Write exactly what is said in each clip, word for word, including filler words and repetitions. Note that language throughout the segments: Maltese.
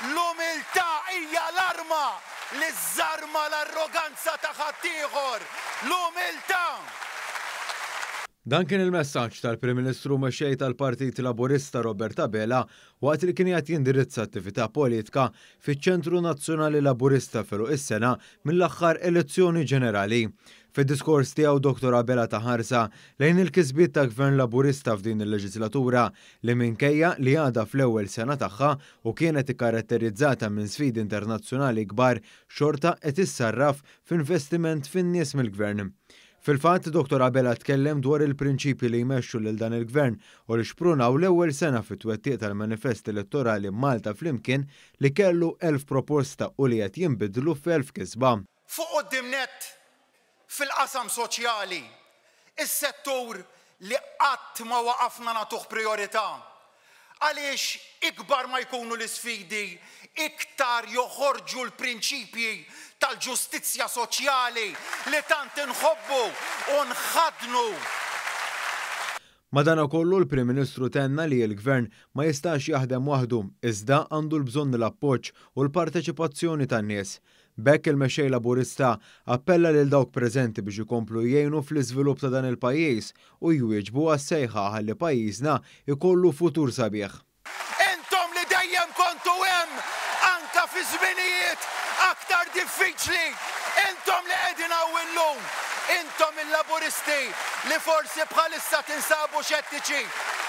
L-umiltà hija l-arma li żżarma l-arroganza ta' ħaddieħor. L-umiltà! Dan kien il-messaġġ tal-Prim Ministru mexxej tal-Partit Laburista Robert Abela waqt li kien qed jindirizza attività politika fiċ-Ċentru Nazzjonali Laburista f'għeluq is-sena mill-aħħar elezzjoni ġenerali. Fid-diskors tiegħu Dottor Abela ta ħarsa lejn il-kisbiet ta' Gvern Laburista f'din il-leġislatura li minkejja li għadha fl-ewwel sena tagħha u kienet ikkaratterizzata minn sfidi internazzjonali kbar xorta qed issarraf f'investiment fin-nies mill-Gvern. Fil-fatt, Dottor Abela tkellem dwar il-prinċipji li jmexxu lil dan il-Gvern u li xprunaw l-ewwel sena fit-twettiq tal-manifest elettorali Malta Flimkien li kellu elf proposta u li qed jinbidlu f'elf kisba. Fuq quddiem nett fil-qasam soċjali, is-settur li qatt ma waqafna nagħtuh priorità. Għaliex ikbar ma jkunu l-isfidi, iktar joħorġu l-prinċipji tal-ġustizzja soċjali li tant inħobbu u nħadnu. Madanakollu l-Prim Ministru tenna li l-Gvern ma jistax jaħdem waħdu, iżda għandu l-bżonn l-appoġġ u l-parteċipazzjoni tan-nies. B'hekk il-mexxej Laburista appella lil dawk preżenti biex ikomplu jgħinu fl-iżvilupp ta' dan il-pajjiż u jwieġbu għas-sejħa ħalli pajjiżna jkollu futur sabiħ. Intom li dejjem kontu hemm anka fi żminijiet aktar diffiċli, intom li qegħdin hawn illum, intom il-Laburisti li forsi bħalissa tinsabu xettiċi,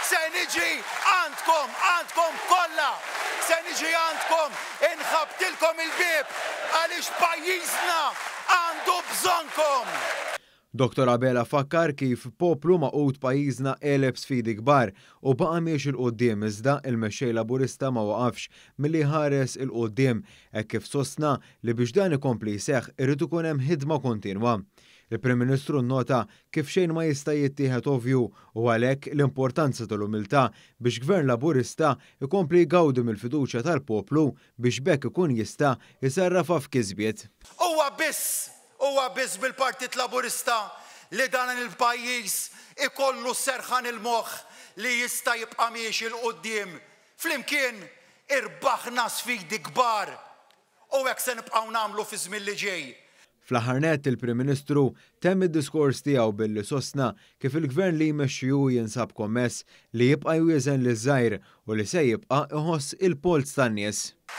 se niġi għandkom, għandkom kollha, se niġi għandkom inħabtilkom il-bieb għaliex pajjiżna għandu bżonnkom. Dottor Abela fakkar kif poplu magħqud pajjiżna għeleb sfidi kbar u baqa' miexi 'l quddiem iżda il-mexxej Laburista ma waqafx milli ħares 'il quddiem hekk kif sostna li biex dan ikompli jseħħ irid ikun hemm ħidma kontinwa. Il-Prim Ministru nnota kif xejn ma jista' jittieħed ovvju u għalhekk l-importanza tal-umiltà biex Gvern Laburista ikompli jgawdi mill-fiduċja tal-poplu biex b'hekk ikun jista' jsarrafha f'kisbiet. Huwa biss, huwa biss bil-Partit Laburista li dan il-pajjiż ikollu serħan il-moħħ li jista' jibqa' miexi 'l quddiem. Flimkien irbaħna sfidi kbar u hekk se nibqgħu nagħmlu fi żmien li ġej. Fl-aħħar nett il-Prim Ministru temm id-diskors tiegħu billi sostna kif il-Gvern li jmexxi hu jinsab kommess li jibqa' jwieżen liż-żgħir u li se jibqa' iħoss il-polz tan-nies.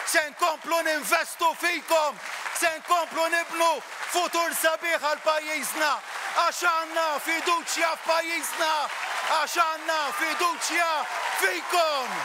Se nkomplu ninvestu fikom, se nkomplu nibnu futur sabiħ għal pajjiżna, għax għandna fiduċja f'pajjiżna, għax għandna fiduċja fikom.